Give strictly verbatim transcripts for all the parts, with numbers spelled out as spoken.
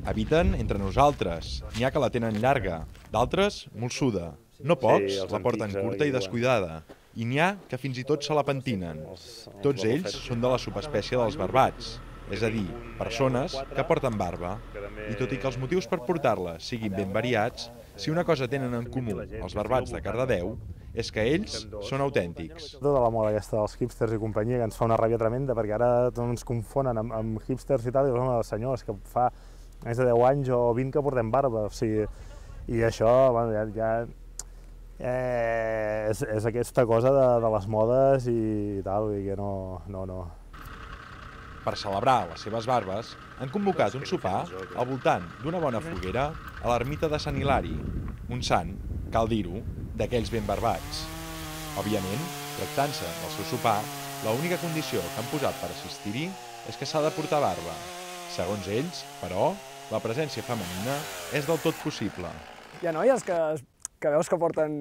Habiten entre nosaltres. N'hi ha que la tenen llarga, d'altres molsuda. No pocs la porten curta i descuidada. I n'hi ha que fins i tot se la pentinen. Tots ells són de la subespècie dels barbats, és a dir, persones que porten barba. I tot i que els motius per portar-la siguin ben variats, si una cosa tenen en comú els barbats de Cardedeu és que ells són autèntics. Tota la moda aquesta dels hipsters i companyia que ens fa una ràbia tremenda, perquè ara ens confonen amb, amb hipsters i tal, i home, senyors, que fa més de deu anys o vint que portem barba, o sigui, i això, bueno, ja, ja eh, és, és aquesta cosa de, de les modes i tal, i que no, no, no. Per celebrar les seves barbes, han convocat un sopar al voltant d'una bona foguera a l'ermita de Sant Hilari, un sant, cal dir-ho, d'aquells ben barbats. Òbviament, tractant-se del seu sopar, l'única condició que han posat per assistir-hi és que s'ha de portar barba. Segons ells, però, la presència femenina és del tot possible. Hi ha noies que, que veus que porten,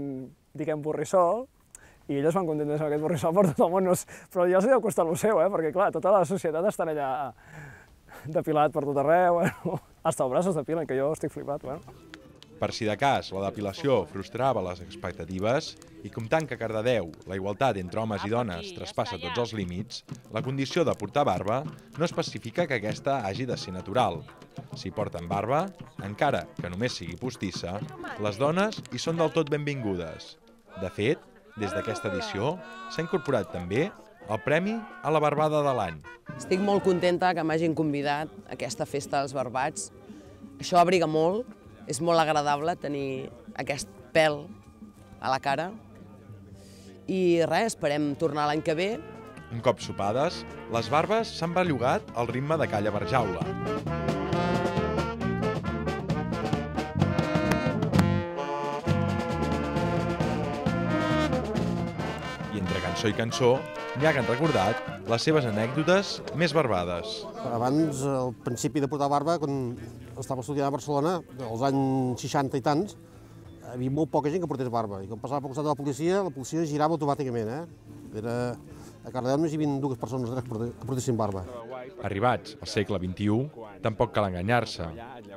diguem, borrissol, i elles van contentes amb aquest borrissol per tot el món, però ja els deu costar el seu, eh? Perquè clar, tota la societat està allà depilat per tot arreu, bueno, hasta els braços depilen, que jo estic flipat. Bueno. Per si de cas la depilació frustrava les expectatives i comptant que a Cardedeu la igualtat entre homes i dones traspassa tots els límits, la condició de portar barba no especifica que aquesta hagi de ser natural. Si porten barba, encara que només sigui postissa, les dones hi són del tot benvingudes. De fet, des d'aquesta edició s'ha incorporat també el Premi a la Barbada de l'any. Estic molt contenta que m'hagin convidat a aquesta festa dels barbats. Això abriga molt, és molt agradable tenir aquest pèl a la cara. I res, esperem tornar l'any que ve. Un cop sopades, les barbes s'han bellugat al ritme de Calla Barjaula. I entre cançó i cançó, n'hi ha que han recordat les seves anècdotes més barbades. Abans, al principi de portar barba, quan estava estudiant a Barcelona, als anys seixanta i tants, hi havia molt poca gent que portés barba. I quan passava pel costat de la policia, la policia girava automàticament. Eh? Era... A Cardedeu només hi havia dues persones que portessin barba. Arribats al segle vint-i-u, tampoc cal enganyar-se.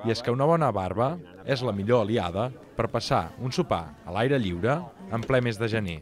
I és que una bona barba és la millor aliada per passar un sopar a l'aire lliure en ple mes de gener.